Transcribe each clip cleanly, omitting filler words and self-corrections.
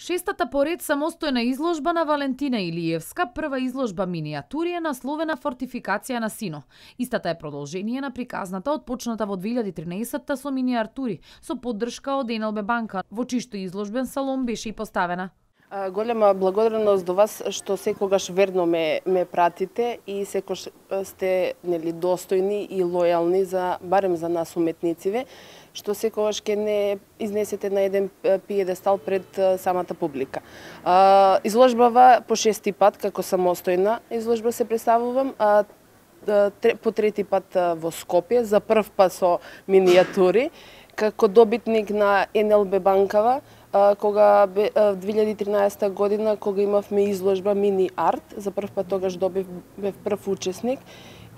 Шестата поред самостојна изложба на Валентина Илиевска, прва изложба минијатури е насловена Фортификација на Сино. Истата е продолжение на приказната отпочната во 2013 со минијатури, со поддршка од НЛБ банка, во чишто изложбен салон беше и поставена. Голема благодарност до вас што секогаш верно ме пратите и секогаш сте достојни и лојални барем за нас уметнициве, што секогаш ќе не изнесете на еден пиедестал пред самата публика. Изложбава по шести пат како самостојна изложба се представувам, по трети пат во Скопје, за прв пат со минијатури, како добитник на НЛБ банкава, кога 2013 година, кога имавме изложба Мини Арт, за прв пат тогаш бев прв учесник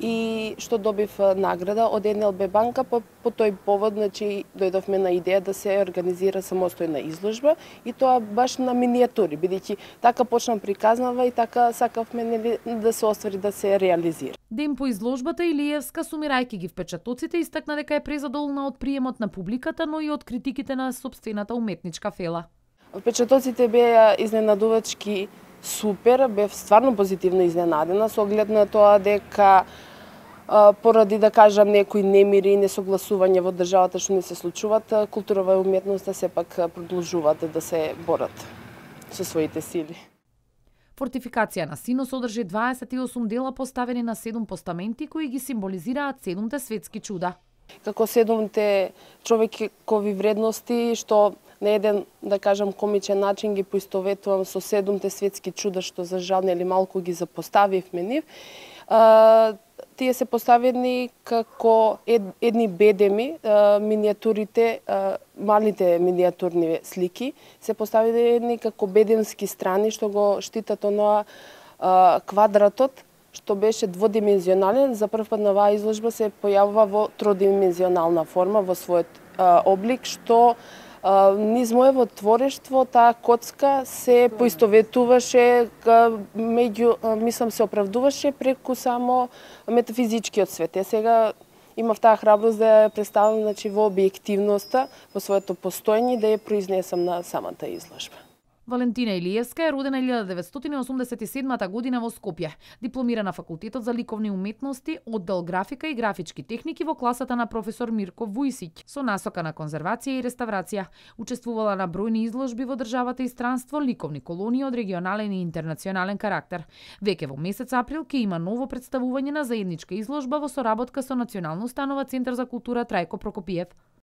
и што добив награда од НЛБ банка, по тој повод, дојдовме на идеја да се организира самостојна изложба и тоа баш на минијатури, бидејќи така почна приказнава и така сакавме да се оствари, да се реализира. Ден по изложбата Илиевска, сумирајќи ги впечатоците, истакна дека е презадоволна од приемот на публиката, но и од критиките на сопствената уметничка фела. Впечатоците беа изненадувачки супер, бев стварно позитивно изненадена со оглед на тоа дека поради да кажам некои немири и несогласување во државата што не се случуваат, културава и уметноста сепак продолжуваат да се борат со своите сили. Фортификација на Сино содржи 28 дела поставени на 7 постаменти кои ги символизираат 7 светски чуда. Како 7 човекови вредности што на еден, да кажам, комичен начин ги поистоветувам со 7 светски чуда што за жал нели малку ги запоставивме нив. Тие се поставени како едни бедеми, минијатурите, малите минијатурни слики, се поставени како бедемски страни што го штитат оноа квадратот, што беше дводимензионален. За прв пат на оваа изложба се појавува во тродимензионална форма во својот облик, што низ моево творештво таа коцка се поистоветуваше мислам се оправдуваше преку само метафизичкиот свет. Сега имав таа храброст да ја представам во објективноста, во своето постоење, да ја произнесам на самата изложба. Валентина Илиевска е родена 1987 година во Скопје. Дипломира на Факултетот за ликовни уметности, оддел графика и графички техники во класата на професор Мирко Вујсиќ, со насока на конзервација и реставрација. Учествувала на бројни изложби во државата и странство, ликовни колонии од регионален и интернационален карактер. Веќе во месец април ќе има ново представување на заедничка изложба во соработка со Национална установа Центар за култура Трајко Прокопиев.